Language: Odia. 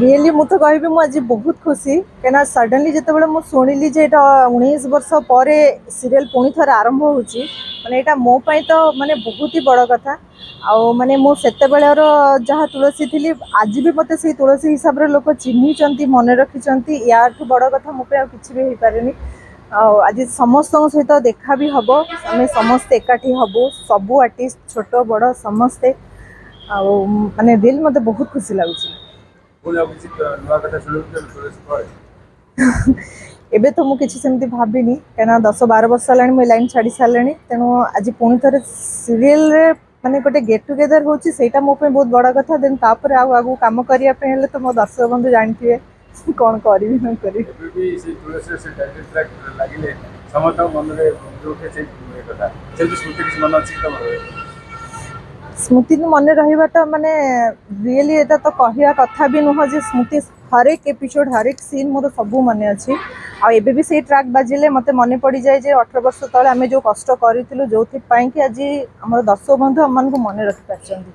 ରିଏଲି ମୁଁ ତ କହିବି, ମୁଁ ଆଜି ବହୁତ ଖୁସି, କାହିଁକିନା ସଡନଲି ଯେତେବେଳେ ମୁଁ ଶୁଣିଲି ଯେ ଏଇଟା 19 ବର୍ଷ ପରେ ସିରିଏଲ୍ ପୁଣି ଥରେ ଆରମ୍ଭ ହେଉଛି, ମାନେ ଏଇଟା ମୋ ପାଇଁ ତ ମାନେ ବହୁତ ହି ବଡ଼ କଥା। ଆଉ ମାନେ ମୁଁ ସେତେବେଳର ଯାହା ତୁଳସୀ ଥିଲି, ଆଜି ବି ମୋତେ ସେଇ ତୁଳସୀ ହିସାବରେ ଲୋକ ଚିହ୍ନିଛନ୍ତି, ମନେ ରଖିଛନ୍ତି। ୟାଠୁ ବଡ଼ କଥା ମୋ ପାଇଁ ଆଉ କିଛି ବି ହେଇପାରେନି। ଆଉ ଆଜି ସମସ୍ତଙ୍କ ସହିତ ଦେଖା ବି ହବ, ଆମେ ସମସ୍ତେ ଏକାଠି ହବୁ, ସବୁ ଆର୍ଟିଷ୍ଟ, ଛୋଟ ବଡ଼ ସମସ୍ତେ। ଆଉ ମାନେ ରିଏଲି ମୋତେ ବହୁତ ଖୁସି ଲାଗୁଛି। ପୁଣି ଆଉ କିଛି ନୂଆ କଥା ଶୁଣିବାକୁ କେବେ ତୁଳସୀ ପରେ? ଏବେ ତ ମୁଁ କିଛି ସେମିତି ଭାବିନି, କାହିଁକିନା 10-12 ବର୍ଷ ହେଲାଣି ମୁଁ ଏ ଲାଇନ୍ ଛାଡ଼ି ସାରିଲିଣି। ତେଣୁ ଆଜି ପୁଣି ଥରେ ସିରିଏଲରେ ମାନେ ଗୋଟେ ଗେଟ୍ ଟୁଗେଦର ହେଉଛି, ସେଇଟା ମୋ ପାଇଁ ବହୁତ ବଡ଼ କଥା। ଦେନ୍ ତାପରେ ଆଉ ଆଗକୁ କାମ କରିବା ପାଇଁ ହେଲେ ତ ମୋ ଦର୍ଶକ ବନ୍ଧୁ ଜାଣିଥିବେ କ'ଣ କରିବି ନ କରିବି। ଏବେ ବି ସେଇ ତୁଳସୀର ସେ ଟାଇଟଲ୍ ଟ୍ରାକ୍ ଲାଗିଲେ ସମସ୍ତଙ୍କ ମନରେ ଯୋଉଠି ସେଇ ଇଏ କଥା, ସେମିତି ସ୍ମୃତି କିଛି ମନେ ଅଛି କି ତମର? ସ୍ମୃତି ମନେ ରହିବାଟା ମାନେ ରିଏଲି ଏଇଟା ତ କହିବା କଥା ବି ନୁହଁ ଯେ ସ୍ମୃତି, ହରେକ ଏପିସୋଡ଼, ହରେକ ସିନ୍ ମୋର ସବୁ ମନେ ଅଛି। ଆଉ ଏବେ ବି ସେଇ ଟ୍ରାକ୍ ବାଜିଲେ ମୋତେ ମନେ ପଡ଼ିଯାଏ ଯେ 18 ବର୍ଷ ତଳେ ଆମେ ଯେଉଁ କଷ୍ଟ କରିଥିଲୁ, ଯେଉଁଥିପାଇଁ କି ଆଜି ଆମର ଦର୍ଶକ ବନ୍ଧୁ ଆମମାନଙ୍କୁ ମନେ ରଖିପାରିଛନ୍ତି।